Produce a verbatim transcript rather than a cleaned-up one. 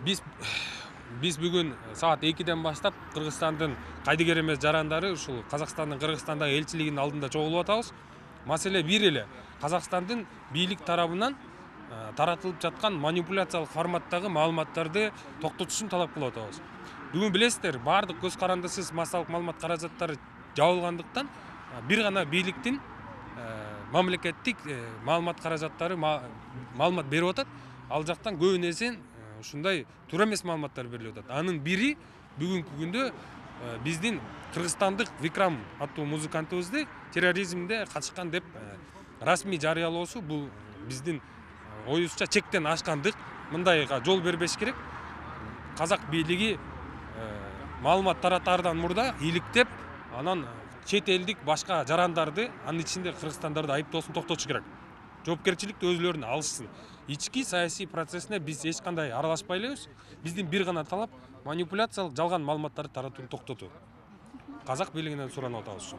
Биз биз бүгүн саат экиден баштап Кыргызстандын кайдыгер эмес жарандары ушул Казакстандын Кыргызстандагы элчилигинин алдында чогулуп атабыз. Маселе бир эле. Казакстандын бийлик тарабынан таратылып жаткан манипуляциялык форматтагы маалыматтарды токтотушун талап кылып атабыз. Бүгүн билесиздер, баардык көз карандысыз массалык маалымат каражаттары жабылгандыктан бир гана бийликтин мамлекеттик маалымат каражаттары маалымат берип атат. Ал жактан көбүнесе ушундай туура эмес маалыматтар берилип атат. Анын бири бүгүнкү күндө биздин кыргызстандык Викрам аттуу музыкантыбызды терроризмде катышкан деп расмий жарыялоосу бул биздин оюбузча чектен ашкандык. Мындайга жол бербеш керек. Казак бийлиги маалымат таратаардан мурда иликтеп, анан чет элдик башка жарандарды, анын ичинде кыргызстандарды айыптоосун токтотуш керек. Жоопкерчиликти өзүлөрүнө алышсын. Ички саясий процессине биз эч кандай аралашпай элебиз. Биздин бир гана талап манипуляциялык жалган маалыматтарды таратууну токтотуу. Казак бийлигинен суранып атабыз.